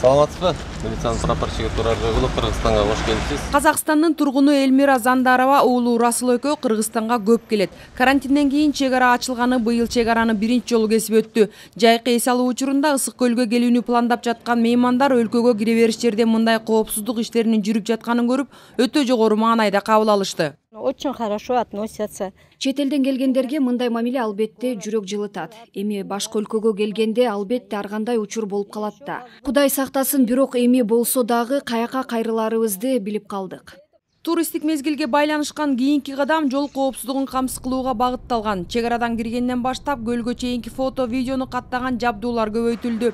Саламатсызбы? Милициянын прапорщиги Турар Жойгулов, Кыргызстанга кош келипсиз. Казакстандын тургуну Элмира Зандарова уулу Расыл экөө Кыргызстанга көп келет. Карантинден кийин чек ара ачылганы быйыл чек араны биринчи жолу кесип өттү. Жайкы эс алуу учурунда Ысык көлгө келүүнү пландап жаткан меймандар өлкөгө кире бериш жерде мындай коопсуздук иштеринин жүрүп жатканын көрүп, өтө жогору маанайда кабыл алышты. Очень хорошо относятся. Чет элден келгендерге мындай мамиле албетте жүрөк жылытат. Эми башка өлкөгө келгенде албетте ар кандай учур болуп калат да. Кудай сактасын, бирок эми болсо дагы каяка кайрыларыбызды билип калдык. Туристтик мезгилге байланышкан кийинки кадам жол коопсуздугун камсыз кылууга багытталган. Чек арадан киргенден баштап көлгө чейинки фото, видеону каттаган жабдуулар көбөйтүлдү.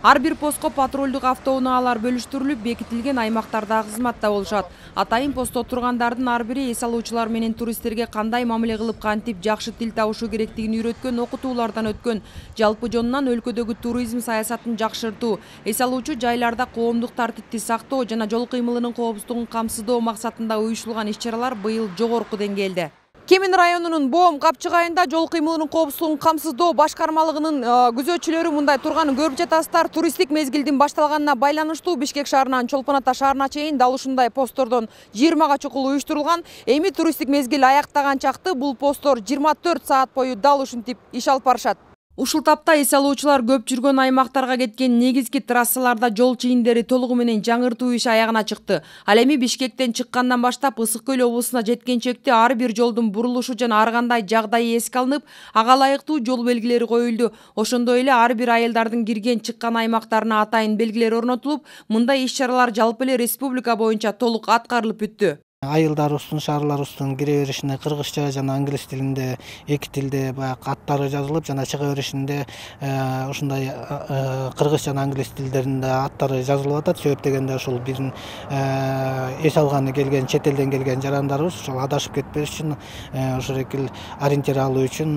Ар бир постко патрулдук автоунаалар бөлүштүрүлүп, бекитилген аймактарда кызматта болушат. Атайын постто тургандардын ар бири эс алуучулар менен туристтерге кандай мамиле кылып, кантип жакшы тил табышу керектигин үйрөткөн окутуулардан өткөн. Жалпы жонунан өлкөдөгү туризм саясатын жакшыртуу, эс алуучу жайларда коомдук тартипти сактоо жана жол кыймылынын коопсуздугун камсыздоо максатында уюштурулган иш-чаралар быйыл жогорку деңгээлде. Кемин районунун Боом Капчык айында жол кыймылынын коопсуздугун камсыздоо башкармалыгынын күзөтчүлөрү мындай турганын көрүп жатасыздар. Туристтик мезгилдин башталганына байланыштуу Бишкек шаарынан Чолпон Ата шаарына чейин дал ушундай посттордон 20га чукул уюштурулган. Эми туристтик мезгил аяктаган чакты бул посттор 24 саат бою дал ушинтип иш алып барышат. Ушул тапта эс алуучулар көп жүргөн аймактарга кеткен негизги трассаларда жол чийиндери толугу менен жаңыртуу иши аягына чыкты. Ал эми Бишкектен чыккандан баштап Ысык көл облусуна жеткенчекте ар бир жолдун бурулушу жана ар кандай жагдайы эске алынып, ага ылайыктуу жол белгилери коюлду. Ошондой эле ар бир айылдардын кирген чыккан аймактарына атайын белгилер орнотулуп, мындай иш-чаралар жалпы эле республика боюнча толук аткарылып бүттү. Айылдарыбыздын, шаарларыбыздын кире беришине кыргызча жана англис тилинде, эки тилде баягы аттары жазылып, жана чыга беришинде ушундай кыргыз жана англис тилдеринде аттары жазылып атат. Себеп дегенде ушул биздин эс алганы келген, чет элден келген жарандарыбыз ошол адашып кетпеш үчүн, ошол экил ориентир алуу үчүн,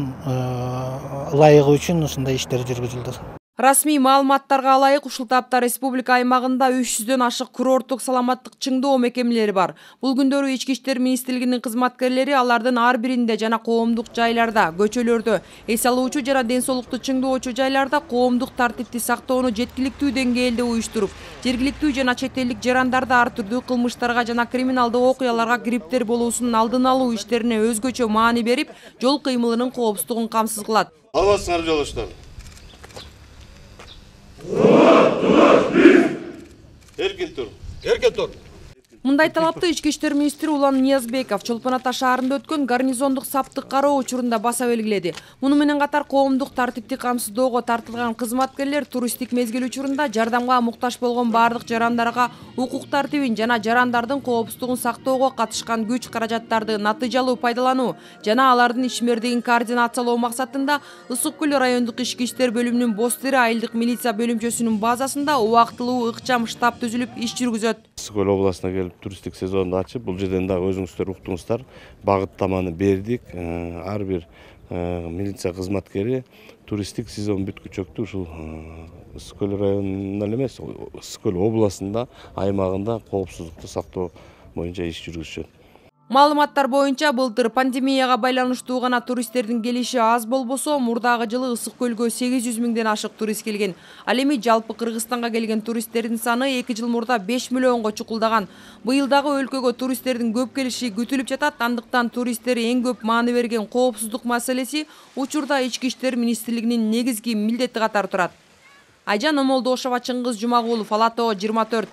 ылайыгы үчүн ушундай иштер жүргүзүлдү. Расмий маалыматтарга ылайык ушул тапта республика аймагында 300дөн ашык курорттук саламаттык чыңдоо мекемелери бар. Бул күндөрү Ички иштер министрлигинин кызматкерлери алардын ар биринде жана коомдук жайларда, көчөлөрдө, эс алуучу жана ден соолукту чыңдоочу жайларда коомдук тартипти сактоону жеткиликтүү деңгээлде уюштуруп, жергиликтүү жана чет элдик жарандарды ар түрдүү кылмыштарга жана криминалдык окуяларга кириптер болуусунун алдын алуу иштерине өзгөчө маани берип, жол кыймылынын коопсуздугун камсыз кылат. Албасыңар жолдоштор. Эркин тур. Эркин тур. Мындай талапты Ички иштер министри Улан Ниязбеков Чолпон Ата шаарында өткөн гарнизондук саптык кароо учурунда баса белгиледи. Муну менен катар коомдук тартипти камсыздоого тартылган кызматкерлер туристтик мезгил учурунда жардамга муктаж болгон бардык жарандарга укук тартибин жана жарандардын коопсуздугун сактоого катышкан күч каражаттарды натыйжалуу пайдалануу жана алардын ишмердигин координациялоо максатында Ысык көл райондук ички иштер бөлүмүнүн Бостери айылдык милиция бөлүмчөсүнүн базасында убактылуу ыкчам штаб түзүлүп иш жүргүзөт. Ысык көл областына келип туристтик сезонду ачып, бул жерден дагы өзүңүздөр уктуңуздар, багыттаманы бердик. Ар бир милиция кызматкери туристтик сезон бүткүчөктү ушул Ысык көл районунан эмес, Ысык көл областында, аймагында коопсуздукту сактоо боюнча иш жүргүзүшөт. Маалыматтар боюнча былтыр пандемияга байланыштуу гана туристтердин келиши аз болбосо, мурдагы жылы Ысык көлгө 800 миңден ашык турист келген. Ал эми жалпы Кыргызстанга келген туристтердин саны 2 жыл мурда 5 миллионго чукулдаган. Быйыл дагы өлкөгө туристтердин көп келиши күтүлүп жатат. Андыктан туристтер эң көп маани берген коопсуздук маселеси учурда Ички иштер министрлигинин негизги милдети катары турат. Айжан Омолдошова, Чыңгыз Жумагулов, Ала Тоо 24.